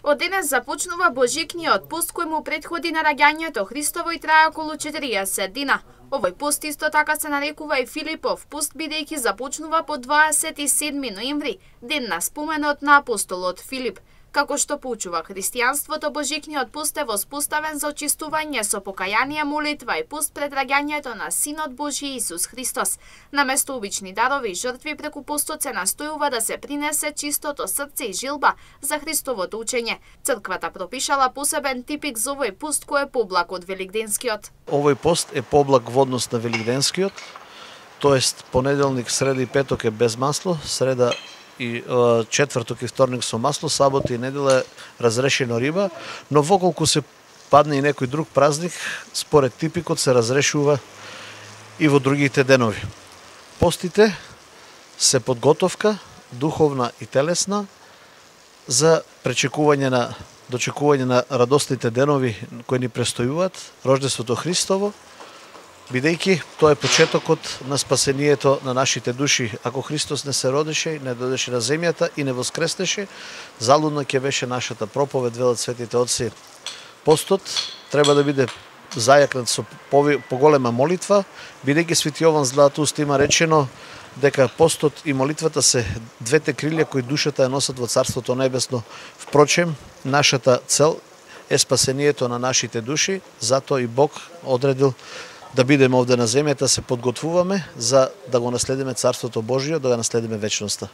Од денес започнува Божикниот пост кој му претходи на раѓањето Христово и трае околу 40 дина. Овој пост исто така се нарекува и Филипов пост, бидејќи започнува по 27 ноември, ден на споменот на апостолот Филип. Како што поучува христијанството, Божикниот пост е воспоставен за очистување со покаяние, молитва и пост пред раѓањето на Синот Божи Исус Христос. Наместо обични дарови и жртви, преку постот се настојува да се принесе чистото срце и жилба за Христовото учење. Црквата пропишала посебен типик за овој пост кој е поблак од Великденскиот. Овој пост е поблак во однос на Великденскиот, тоест понеделник, среда и петок е без масло, среда и четврток и вторник со масло, сабота и недела разрешено риба, но воколку се падне и некој друг празник, според типикот се разрешува и во другите денови. Постите се подготовка, духовна и телесна, за дочекување на радостните денови кои ни престојуваат, рождеството Христово, бидејќи тоа е почетокот на спасението на нашите души. Ако Христос не се родеше, не додеше на земјата и не воскреснеше, залудна ќе беше нашата проповед, велат светите отци. Постот треба да биде зајакнат со поголема молитва, бидејќи Свети Јован Златоуст има речено дека постот и молитвата се двете крилја кои душата ја носат во Царството Небесно. Впрочем, нашата цел е спасението на нашите души, затоа и Бог одредил да бидеме овде на земјата, се подготвуваме за да го наследиме Царството Божие, да го наследиме вечноста.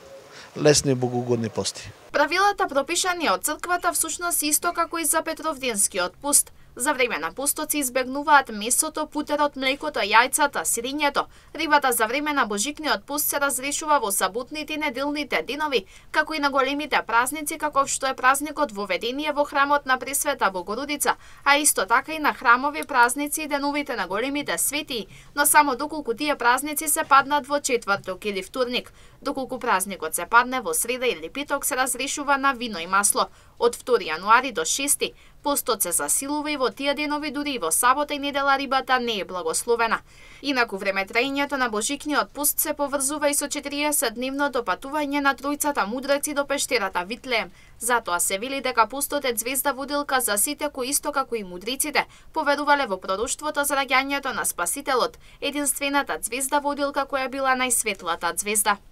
Лесни и богоугодни пости. Правилата пропишани од црквата всушност исто како и за Петровденскиот пост. За време на постот се избегнуваат месото, путерот, млекото, јајцата, сирењето. Рибата за време на Божикниот пост се разрешува во саботните и неделните денови, како и на големите празници, каков што е празникот Воведение во храмот на Пресвета Богородица, а исто така и на храмови празници и деновите на големите светии, но само доколку тие празници се паднат во четврток или вторник. Доколку празникот се падне во среда или петок, се разрешува на вино и масло. Од 2 јануари до 6 постот се засилува и во тие денови, дури и во сабота и недела рибата не е благословена. Инаку времетраењето на Божикниот пост се поврзува и со 40-дневното патување на тројцата мудреци до пештерата Витлеем. Затоа се вели дека постот е звезда водилка за сите кои исто како и мудриците поверувале во пророштвото за раѓањето на Спасителот, единствената звезда водилка која била најсветлата звезда.